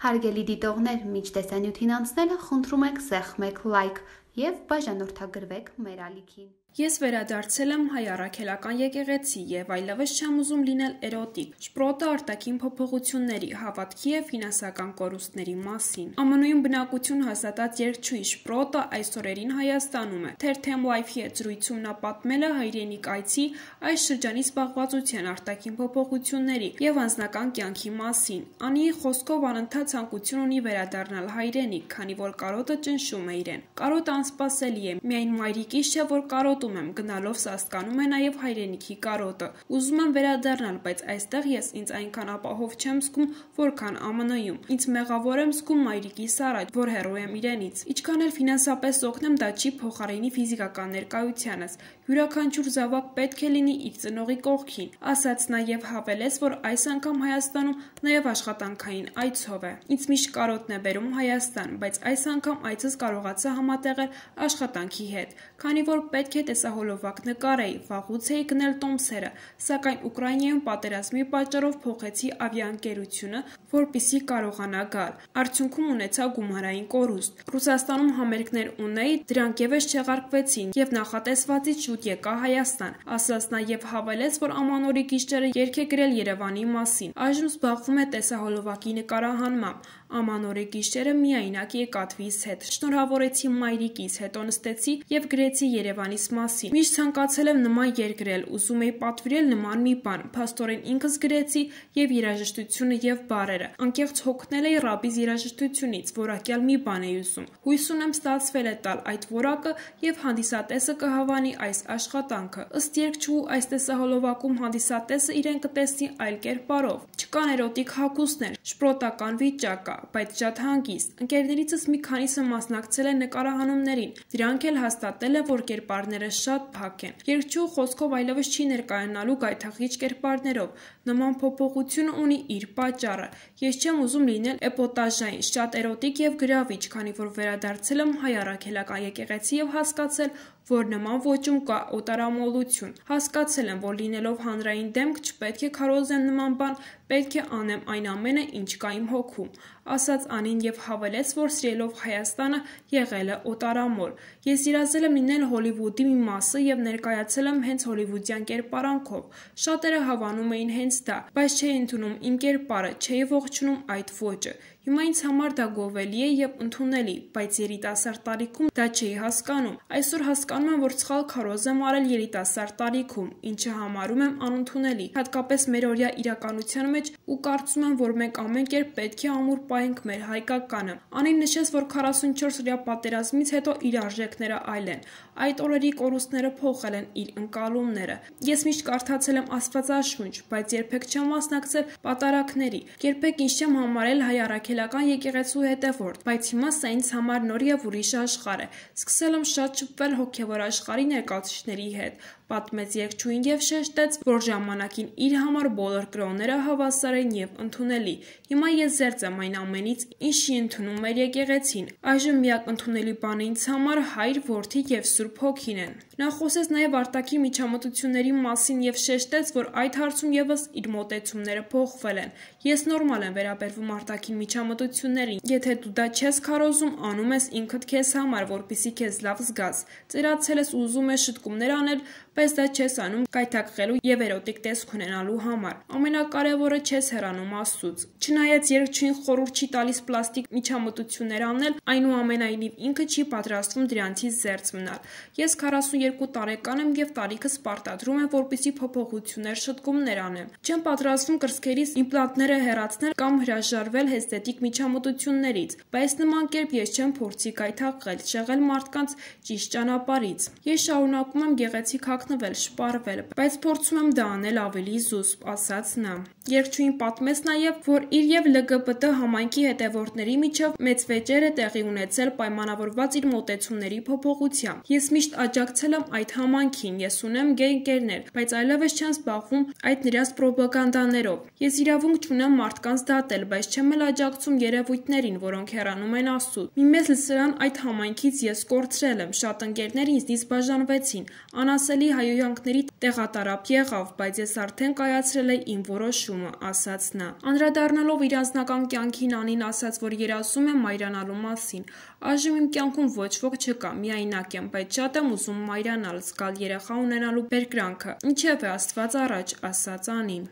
Հարգելի դիտողներ, մինչ տեսանյութին անցնելը խնդրում ենք սեղմեք լայք և բաժանորդագրվեք մեր ալիքին։ Ես վերադարձել եմ հայ առաքելական եկեղեցի և այլևս չեմ ուզում լինել էրոտիկ։ Շպրոտը արտաքին փոփոխությունների, հավատքի և ֆինանսական կորուստների մասին։ ԱՄՆ-ում բնակություն հաստատած երգչուհի Շպրոտը այս օրերին Հայաստանում է։ Թերթեմ Life-ի հետ զրույցում նա պատմել է հայրենիք այցի այս շրջանի զբաղվածության արտաքին փոփոխությունների և անձնական կյանքի մասին։ Անիի խոսքով անընդհատ ցանկություն ունի վերադառնալ հայրենիք, քանի որ կարոտը ճնշում է իրեն։ Կարոտը անսպասելի է, միայն մայրիկիս չէ, որ կարոտում եմ, գնալով սաստկանում է նաև հայրենիքի կարոտը։ Ուզում եմ վերադառնալ, բայց այստեղ ես ինձ այնքան ապահով չեմ զգում, որքան ԱՄՆ-ում։ Ինձ մեղավոր եմ զգում մայրիկիս առաջ, որ հեռու եմ իրենից։ Ինչքան էլ ֆինանսապես օգնեմ, դա չի փոխարինի ֆիզիկական ներկայությանս։ Յուրաքանչյուր զավակ պետք է լինի իր ծնողի կողքին, ասաց նա և հավելեց, որ այս անգամ Հայաստանում նաև աշխատանքային այցով է։ Ինձ միշտ կարոտն է բերում Հայաստան, բայց այս անգամ այցս կարողացա համատեղել աշխատանքի հետ, քանի որ պետք է տեսահոլովակ նկարեի, վաղուց էի գնել տոմսերը, սակայն Ուկրաինայում պատերազմի պատճառով փոխեցի ավիաընկերությունը, որպեսզի կարողանա գալ։ Արդյունքում ունեցա գումարային կորուստ։ Ռուսաստանում համերգներ ունեի, դրանք ևս չեղարկվեցին և նախատեսվածից շուտ եկա Հայաստան, ասաց նա և հավելեց, որ ամանորի գիշերը երգ է գրել Երևանի մասին։ Այժմ զբաղվում է տեսահոլովակի նկարահանմամբ։ Ամանորի գիշերը միայնակ եկատվիս հետ։ Շնորհավորեցի մայրիկիս, հետո նստեցի և գրեցի Երևանիս մասին։ Միշտ ցանկացել եմ նման երգ գրել, ուզում էի պատվիրել նման մի բան, փաստորեն ինքս գրեցի և երաժշտությունը և բառերը։ Անկեղծ հոգնել էի ռաբիս երաժշտությունից, որակյալ մի բան էի ուզում։ Հույս ունեմ ստացվել է տալ այդ որակը և հանդիսատեսը կհավանի այս աշխատանքը։ Ըստ երգչուհու այս տեսահոլովակում հանդիսատեսը իրեն կտեսնի այլ կերպարով։ Չկան էրոտիկ հագուստներ, շպրոտական վիճակ կա, բայց շատ հանգիստ։ Ընկերներիցս մի քանիսը մասնակցել են նկարահանումներին, դրանք էլ հաստատել են, որ կերպարները շատ փակ են։ Երգչուհու խոսքով այլևս չի ներկայանալու գայթակղիչ կերպարներով։ Նման փոփոխությունը ունի իր պատճառը։ Ես չեմ ուզում լինել էպոտաժային, շատ էրոտիկ և գրավիչ, քանի որ վերադարձել եմ հայ առաքելական եկեղեցի և հասկացել, որ նման ոճում կա օտարամոլություն։ Հասկացել եմ, որ լինելով հանրային դեմք չպետք է քարոզեմ նման բան, պետք է անեմ այն ամենը, ինչ կա իմ հոգում, ասաց Անին և հավելեց, որ սիրելով Հայաստանը եղել է օտարամոլ։ Ես երազել եմ լինել Հոլիվուդի մի մասը և ներկայացել եմ հենց հոլիվուդյան կերպարանքով։ Շատերը հավանում էին հենց դա, բայց չէի ընդունում իմ կերպարը, չէի ողջունում այդ ոճը։ Հիմա ինձ համար դա գովելի է և ընդունելի, բայց երիտասարդ տարիքում դա չէի հասկանում։ Այսօր հասկանում եմ, որ սխալ քարոզ եմ արել երիտասարդ տարիքում, ինչը համարում եմ անընդունելի, հատկապես մերօրյա իրականության մեջ, ու կարծում եմ, որ մենք ամեն կերպ պետք է ամուր պահենք մեր հայկականը։ Անին նշեց, որ 44-օրյա պատերազմից հետո իր արժեքները այլ են։ Այդ օրերի կորուստները փոխել են իր ընկալումները։ Ես միշտ կարդացել եմ Աստվածաշունչ, բայց երբեք չեմ մասնակցել պատարագների, երբեք ինձ չեմ համարել հայ առաքելական եկեղեցու հետևորդ, բայց հիմա սա ինձ համար նոր և ուրիշ աշխարհ է։ Սկսել եմ շատ շփվել հոգևոր աշխարհի ներկայացուցիչների հետ, պատմեց երգչուհին և շեշտեց, որ ժամանակին իր համար բոլոր կրոնները հավասար են և ընդունելի։ Հիմա ես զերծ եմ այն ամենից, ինչի ընդունում մեր եկեղեցին։ Այժմ միակ ընդունելի բանը ինձ համար Հայր, Որդի և Սուրբ Հոգին են։ Նա խոսեց նաև արտաքին միջամտությունների մասին և շեշտեց, որ այդ հարցում ևս իր մոտեցումները փոխվել են։ Ես նորմալ եմ վերաբերվում արտաքին միջամտություններին։ Եթե դու դա չես քարոզում, անում ես ինքդ քեզ համար, որպեսզի քեզ լավ զգաս։ Ծերացել ես ու ուզում ես շտկումներ անել, բայց դա չես անում գայթակղելու և էրոտիկ տեսք ունենալու համար։ Ամենակարևորը չես հեռանում Աստծուց։ Չնայած երգչուհին խորհուրդ չի տալիս պլաստիկ միջամտություններ անել, այնուամենայնիվ ինքը չի պատրաստվում դրանցից զերծ մնալ։ Ես 42 տարեկան եմ և տարիքս պարտադրում եմ, որպեսզի փոփոխություններ, շտկումներ անեմ։ Չեմ պատրաստվում կրծքերից իմպլանտները հեռացնել կամ հրաժարվել էսթետիկ միջամտություններից, բայց նման կերպ ես չեմ փորձի գայթակղել, շեղել մարդկանց ճիշտ ճանապարհից։ Ես շարունակում եմ գեղեցիկ հագնվել, շպարվել, բայց փորձում եմ դա անել ավելի զուսպ, ասաց նա։ Երգչուհին պատմեց նաև, որ իր և ԼԳԲՏ համայնքի հետևորդների միջև մեծ վեճեր է տեղի ունեցել պայմանավորված իր մոտեցումների փոփոխությամբ։ Ես միշտ աջակցել եմ այդ համայնքին, ես ունեմ գեյ ընկերներ, բայց այլևս չեմ զբաղվում այդ նրանց պրոպագանդաներով։ Ես իրավունք չունեմ մարդկանց դատել, բայց չեմ էլ աջակցում երևույթներին, որոնք հեռանում են Աստծուց։ Մի մեծ լսարան այդ համայնքից ես կորցրել եմ, շատ ընկերներ ինձնից բաժանվեցին, անասելի հայհոյանքների տեղատարափ եղավ, բայց ես արդեն կայացրել էի իմ որոշումը։ հիշումը, ասաց նա։ Անդրադառնալով իր անձնական կյանքին, Անին ասաց, որ երազում է մայրանալու մասին։ Այժմ իմ կյանքում ոչ ոք չկա, միայնակ եմ, բայց շատ եմ ուզում մայրանալ, զգալ երեխա ունենալու բերկրանքը։ Ինչևէ, Աստված առաջ, ասաց Անին։